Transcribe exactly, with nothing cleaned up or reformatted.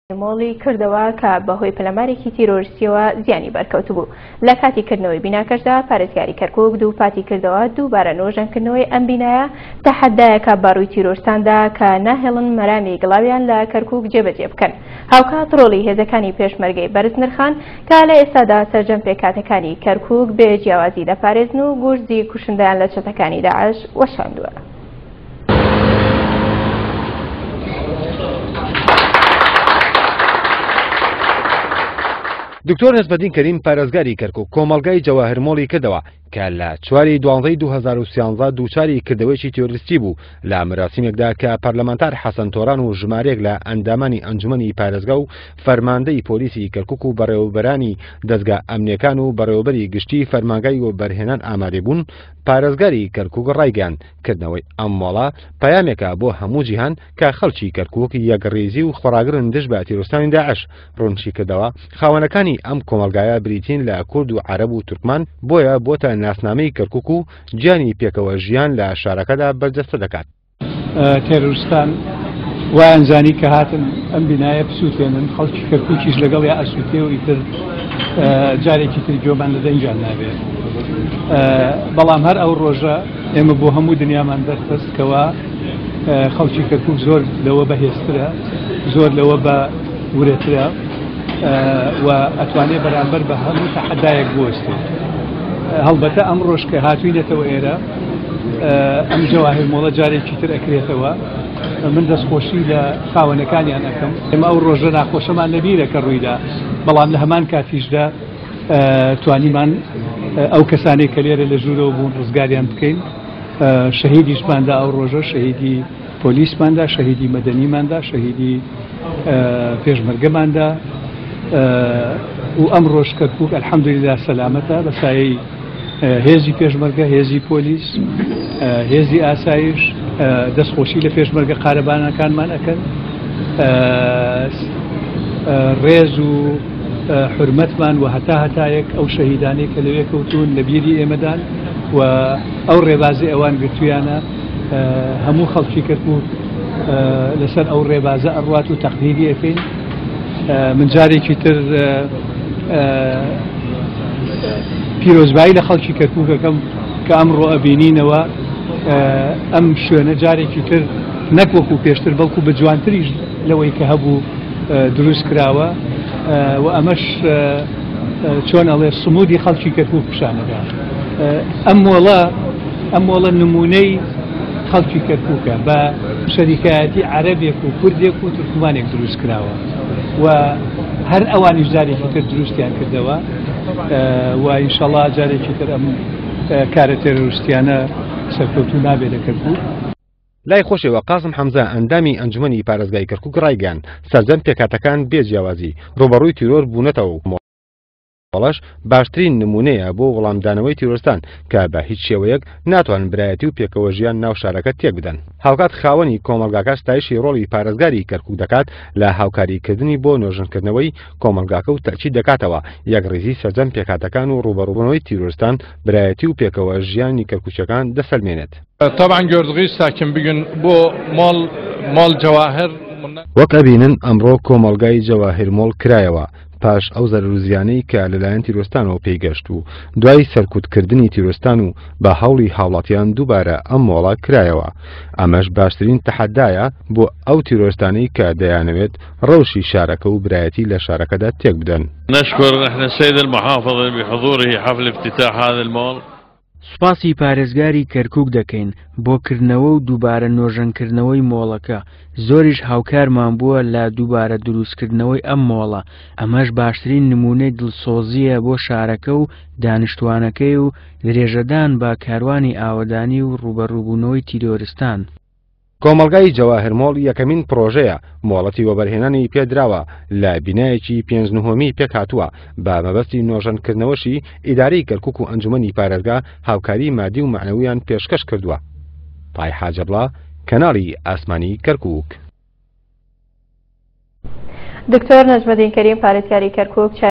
مۆڵی کردەوە کە بەهۆی پەلامارێکی تیرۆریستیەوە زیانی بەرکەوتبوو. لە کاتی کردنەوەی بیناکەشدا پارێزگاری کەرکوک دووپاتی کردەوە دووبارە نۆژەنکردنەوەی ئەم بینایە تەحەدایەکە بەڕووی تیرۆرستاندا کە ناهێڵن مەرامی گڵاویان لە کەرکوک جێبەجێ بکەن. هاوکات ڕۆڵی هێزەکانی پێشمەرگەی بەرز نرخان کە لە ئێستادا سەرجەم پێکهاتەکانی کەرکوک بێ جیاوازی دەپارێزن و گورزی کوشندەیان لە چەتەکانی داعش وەشاندووە. دکتۆر نەجمەدین کەریم پارێزگاری کەرکوک کۆمەڵگای جەواهر مۆڵی کردەوە کە لە چواری دوانزەی دوو هەزار و سیانزە دووچاری کردەوەیەکی تیرۆریستی بوو لە مەراسیمێکدا کە پەرلەمانتار حەسەن تۆران و ژمارەیەک لە ئەندامانی ئەنجومەنی پارێزگا و فەرماندەی پۆلیسی کەرکوک و بەڕێوەبەرانی دەزگا ئەمنیەکان و بەڕێوەبەری گشتی فەرمانگای وەبەرهێنان ئامادە بوون. پارێزگاری کەرکوک ڕایگەیاند کردنەوەی ئەم مۆڵە پەیامێکە بۆ هەموو جیهان کە خەڵکی کەرکوک یەکڕیزی و خۆڕاگرن دژ بە تیرۆرستانی داعش. ڕوونشی کردەوە خاوەنەکانی ئەم کۆمەڵگایە بریتین لە کورد و عەرەب و تورکمان، بۆیە بۆتە ناسنامەی کەرکوک و گیانی پێکەوە ژیان لە شارەکەدا بەرجەستە دەکات. تێرۆرستان وایان زانی کە هاتن ئەم بینایە بسووتێنن، خەڵکی کەرکوکیش لەگەڵیا ئەسووتێ و ئیتر جارێکی تر گوێمان لە دەنگیان نابێت. بەڵام هەر ئەو ڕۆژە ئێمە بۆ هەموو دنیامان دەرخست کەوا خەڵکی کەرکوک زۆر لەوە بەهێزترە، زۆر لەوە بە ورەترە و ئەتوانێت بەرامبەر بە هەموو تەحەدایەک بوەستێت. هەڵبەتە ئەم ڕۆژ کە هاتوینێتەوە ئێرە ئەم جەواهر مۆڵە جارێکی تر ئەکرێتەوە. من دەستخۆشی لە خاوەنەکانیان ئەەکەم. ئێمە ئەو ڕۆژە ناخۆشەمان لەبیرە کە ڕوویدا، بەڵام لە هەمان کاتیشدا توانیمان ئەو کەسانێک کە لێرە لە ژوورەوە بوون ڕزگاریان بکەین. شەهیدیشماندا ئەو ڕۆژە، شەهیدی پۆلیسماندا، شەهیدی مەدەنیماندا، شەهیدی پێشمەرگەماندا و ئەم ڕۆژ کەرکوک ئەلحەمدولillah سەلامەتە بە سایەی هێزی پێشمەرگە، هێزی پۆلیس، هێزی ئاسایش. دەستخۆشی لە پێشمەرگە قارەبانەکانمان ئەکەن. ڕێز و حرمەتمان و هەتا هەتایەک ئەو شەهیدانەی کە لەوێ کەوتون لە بیری ئێمەدان و ئەو ڕێبازی ئەوان گرتویانە. هەموو خەڵکی کەرکوک لەسەر ئەو ڕێبازە ئەڕوات و تەقدیری ئەکەین. من جارێکی تر پیرۆزبایی لە خەڵکی کەرکوکەکەم کە ئەمڕۆ ئەبینینەوە ئەم شوێنە جارێکی تر نەک وەکو پێشتر بەڵکو بە جوانتریش لەوەی کە هەبوو دروست کراوە و ئەمەش چۆن ئەڵێ سمودی خەڵکی کەرکوک پیشانەدا. ئەم مۆڵە ئەم مۆڵە نمونەی خەڵکی کەرکوکە بە شەریکایەتی عەرەبێک و کوردێک و تورکمانێک دروست کراوە و هەر ئەوانیش جارێکی تر دروستیان کردەوە و ئینشەڵا جارێکی تر ئەم کارە تێرۆریستیانە سەرکەوتوو نابێت لە کەرکوک. لای خۆشەوە قاسم حەمزە ئەندامی ئەنجومەنی پارێزگای کەرکوک ڕایگەیاند سەرجەم پێکهاتەکان بێ جیاوازی ڕووبەڕووی تیرۆر بوونەتەوە و مۆڵەش باشترین نمونەیە بۆ وەڵامدانەوەی تیرۆرستان کە بە هیچ شێوەیەک ناتوانن برایەتی و پێکەوە ژیان ناو شارەکە تێک بدەن. هاوکات خاوەنی کۆمەڵگاکە ستایشی ڕۆڵی پارێزگاری کەرکوک دەکات لە هاوکاریکردنی بۆ نۆژەنکردنەوەی کۆمەڵگاکە و تەئکید دەکاتەوە یەکڕیزی سەرجەم پێکهاتەکان و ڕووبەڕووبوونەوەی تیرۆرستان برایەتی و پێکەوە ژیانی کەرکوکیەکان دەسەلمێنێت. طبعا gördüğünüz sakin bugün bu mol mol جواهر وەک ئەبینن ئەمڕۆ کۆمەڵگای جەواهر مۆڵ کرایەوە پاش ئەو زەرەر و زیانەی کە لەلایەن تیرۆرستانەوە پێیگەشت و دوای سەرکوتکردنی تیرۆرستان و بە هەوڵی هاوڵاتیان دووبارە ئەم مۆڵە کرایەوە. ئەمەش باشترین تەحەدایە بۆ ئەو تیرۆرستانەی کە دەیانەوێت ڕەوشی شارەکە و برایەتی لە شارەکەدا تێک بدەن. نشكر نحن السيد المحافظ بحضوره حفل افتتاح هذا المول. سوپاسی پارێزگاری کەرکوک دەکەین بۆ کردنەوە و دووبارە نۆژەنکردنەوەی مۆڵەکە. زۆریش هاوکارمان بووە لە دووبارە دروستکردنەوەی ئەم مۆڵە. ئەمەش باشترین نمونەی دڵسۆزیە بۆ شارەکە و دانیشتوانەکەی و درێژەدان بە کاروانی ئاوەدانی و ڕووبەڕووبوونەوەی تیرۆرستان. کۆمەڵگای جەواهر مۆڵ یەکەمین پرۆژەیە مۆڵەتی وەبەرهێنانی پێدراوە لە بینایەکی پێنج نهۆمی پێکهاتووە بە مەبەستی نۆژەنکردنەوەشی ئیدارەی کەرکوک و ئەنجومەنی پارێزگا هاوکاری مادی و مەعنەویان پێشکەش کردووە. پای حاجەبڵا، کەناڵی ئاسمانی کەرکوک. دکتۆر نەجمەدین کەریم پارێزگاری کەرکوک